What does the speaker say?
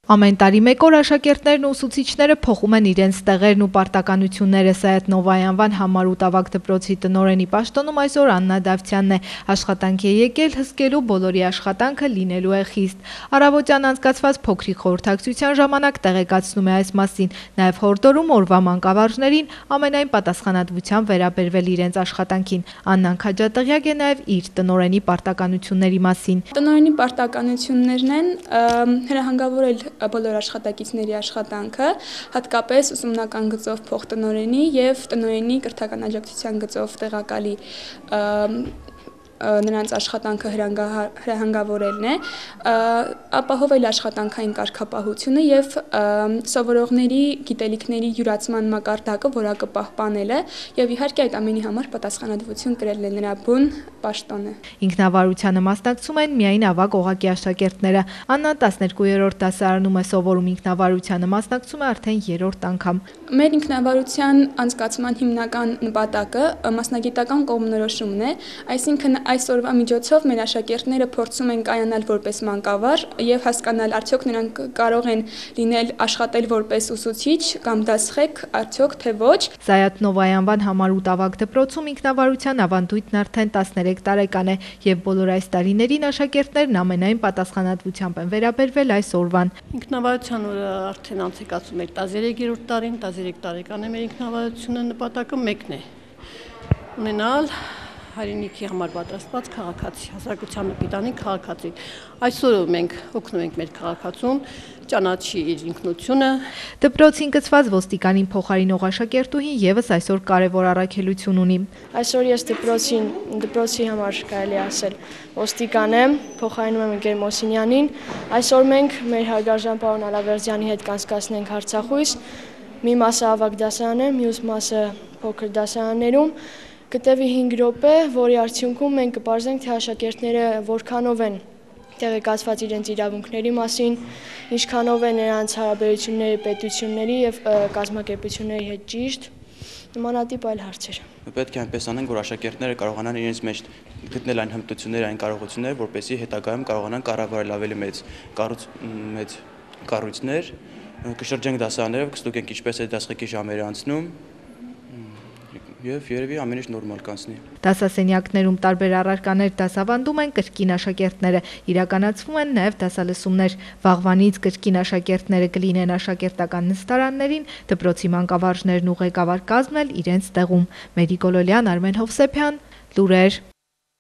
Ամեն տարի մեկ օր աշակերտներն ու ուսուցիչները փոխում են իրենց տեղերն ու պարտականությունները։ Սայաթ Նովայի անվան համառ ու տավակ դպրոցի տնօրենի պաշտոնում այսօր Աննա Դավթյանն է։ Աշխատանք է եկել հսկելու, բոլորի աշխատանքը լինելու է խիստ։ Առավոտյան անցկացված փոքրիկ խորհրդակցության ժամանակ տեղեկացնում է այս մասին, նաև հորդորում օրվա մանկավարժներին ամենայն պատասխանատվությամբ վերաբերվել իրենց աշխատանքին։ Աննան քաջատեղյակ է նաև իր տնօրենի պարտականությունների մասին։ Տնօրենի պարտականություններն են հրահանգավորել բոլոր աշխատակիցների աշխատանքը, հատկապես ուսումնական գծով փոխտնօրենի եւ տնօրենի կրթական աջակցության գծով տեղակալի նրանց աշխատանքը հրահանգավորելն է, ապահովել աշխատանքային կարգապահությունը եւ սովորողների գիտելիքների յուրացման մակարդակը որակը պահպանելը եւ իհարկե այդ ամենի համար պատասխանատվություն կրելն է նրա բուն պաշտոնը։ Ինքնավարությանը մասնակցում են միայն ավագ օղակի աշակերտները։ Աննան 12-րդ դասարանում է սովորում, ինքնավարությանը մասնակցում է արդեն 3-րդ անգամ։ Մեր ինքնավարության անցկացման հիմնական նպատակը մասնագիտական կողմնորոշումն է, այսինքն այսօրվա միջոցով մեր աշակերտները փորձում են կայանալ որպես մանկավար եւ հասկանալ արդյոք նրանք կարող են լինել աշխատել որպես ուսուցիչ կամ դասղեկ, արդյոք թե ոչ։ Սայաթ Նովայի անվան համառ ու տավակ դպրոցում ինքնավարության ավանդույթն արդեն 13 տարեկան է եւ բոլոր այս տարիներին աշակերտներն ամենայն պատասխանատվությամբ են վերաբերվել այս օրվան։ Ինքնավարության օրը արդեն անցկացում էր 13-րդ տարին, 13 տարեկան է մեր ինքնավարությունը, նպատակը մեկն է՝ ունենալ հայրենիքի համար պատրաստված քաղաքացի, հասարակության պիտանի քաղաքացի։ Այսօր մենք օգնում ենք մեր քաղաքացուն ճանաչի իր ինքնությունը։ Դպրոցին գծված ոստիկանին փոխարինող աշակերտուհին եւս այսօր կարևոր առաքելություն ունի։ Այսօր ես դպրոցի համար կարելի ասել ոստիկան եմ, փոխարինում եմ Գեր Մոսինյանին։ Այսօր մենք մեր հարգարժան պարոն Ալավերդյանի հետ կանցկացնենք հարցախույս։ Մի մասը ավագ դասարան է, մյուս մասը փոքր դասարաններում։ Կտևի 5 րոպե, որի արդյունքում մենք կպարզենք, թե աշակերտները որքանով են տեղեկացված իրենց իրավունքների մասին, ինչքանով են նրանց հարաբերությունները պետությունների եւ կազմակերպությունների հետ ճիշտ, նմանատիպ այլ հարցեր։ Պետք է այնպես անենք, որ աշակերտները կարողանան իրենց մեջ գտնել այն հմտությունները, այն կարողությունները, որպեսզի հետագայում կարողանան կառավարել ավելի մեծ կառույցներ, կշրջենք դասարաններով, կստուգենք ինչպես է դասղեկի ժամերը անցնում։ Եվ երևի ամեն ինչ նորմալ կանցնի։ Դասասենյակներում տարբեր առարկաներ դասավանդում են կրկին աշակերտները, իրականացվում են նաև դասալսումներ։ Վաղվանից կրկին աշակերտները կլինեն աշակերտական նստարաններին, դպրոցի մանկավարժներն ու ղեկավար կազմն էլ իրենց տեղում։ Մերի Գոլոլյան, Արմեն Հովսեփյան, լուրեր։